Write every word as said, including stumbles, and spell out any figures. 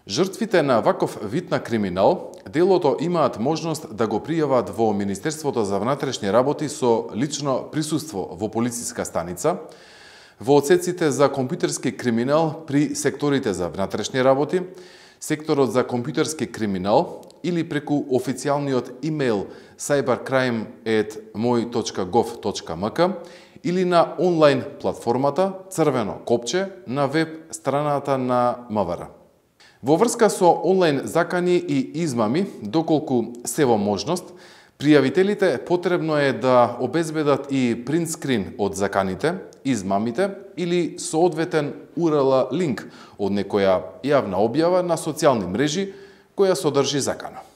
Жртвите на ваков вид на криминал делото имаат можност да го пријават во Министерството за внатрешни работи со лично присуство во полициска станица, во одсеците за компјутерски криминал при секторите за внатрешни работи, секторот за компјутерски криминал или преку официјалниот имејл cybercrime at moi точка gov точка mk или на онлайн платформата Црвено копче на веб страната на МВР. Во врска со онлайн закани и измами, доколку се во можност, пријавителите потребно е да обезбедат и принтскрин од заканите, измамите или соодветен ю ар ел линк од некоја јавна објава на социјални мрежи која содржи закана.